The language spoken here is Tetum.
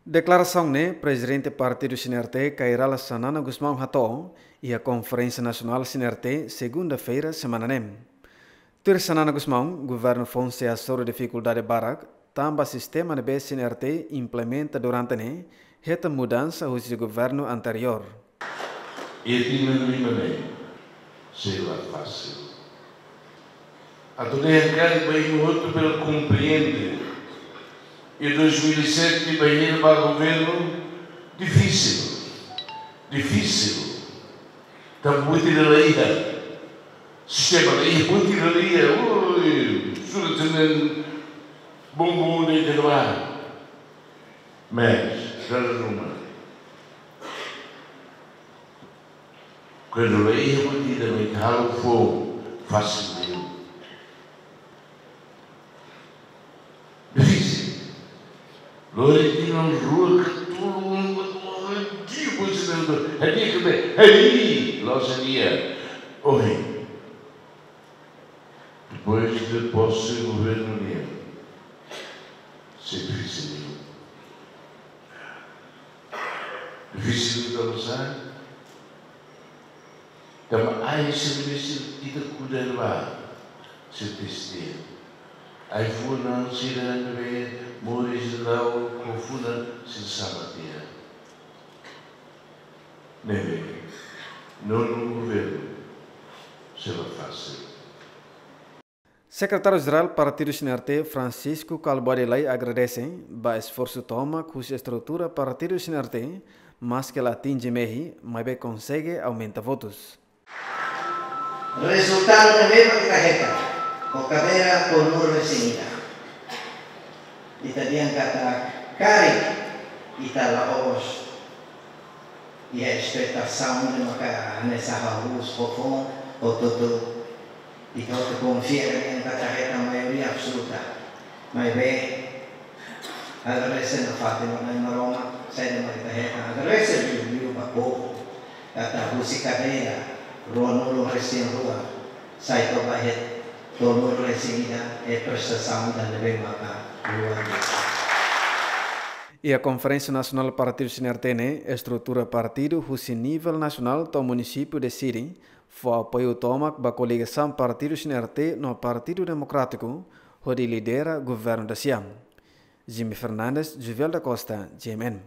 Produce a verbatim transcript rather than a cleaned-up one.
Deklarasaun ne'e Prezidente Partidu CNRT, Kay Rala Xanana Gusmão hato'o iha Konferénsia Nasionál CNRT, segunda-feira semana ne'e. Tuir Xanana Gusmão, governu foun sei hasoru difikuldade barak, tanba sistema ne'ebé CNRT implementa durante ne'e hetan mudansa husi governu anteriór. Iha tinan lima ne'e sei la fasil. Atu dehan karik ba imi hotu bele komprende. Iha dois mil e sete ba iha ba governu difisil. Difisil. Tanba buat ida la iha. Sistema la iha, buat ida la iha. Ui, sura tenen bumbum de terba. Mas, dala ruma. Kuandu la iha buat ida, mai halo foun, fasil liu. Difisil. Lori tinan rua ka tolu, um, um, um, dia, pois, hadi'a ka lae, hadi'a, loos hadi'a. Ohin. Depois de posse governu nian, sei difisil. Difisil tanba sá? Tanba ai sei difisil ita kuda ba, sei teste. Ai-funan sira ne'ebé moris la'o ho funan sira sala tiha. Ne'ebé, nonu governu sei la fasil. Sekretáriu Jerál Partidu CNRT, Francisco Kalbuadi Lay, agradese ba esforsu tomak husi estrutura Partidu CNRT, maske la atinje mehi, maibé konsege aumenta votus. Rezultadu ne'ebé mak ita hetan, ho kadeira tolunulu-resin-ida. Ita dehan katak karik ita la'ós iha espetasaun ida maka hanesan hahú, foufoun, hotu-hotu. Ita hotu konfia katak ita hetan maioria absoluta. Maibé, agradese nafatin ba Na'i Maromak, saida mak ita hetan. Agradese liuliu ba povu, katak husi kadeira ruanulu-resin-rua, sai to'o ba iha tolunulu-resin-ida, é prestasaun ida ne'ebé maka luar biasa. Iha Konferénsia Nasionál Partidu CNRT ne'e, estrutura partidu husi nivel nasionál to'o munisípiu deside fó apoiu tomak ba koligasaun Partidu CNRT no Partidu Demokrátiku, hodi lidera governu da siam. Jimmy Fernandes, Juvel da Costa, G M N.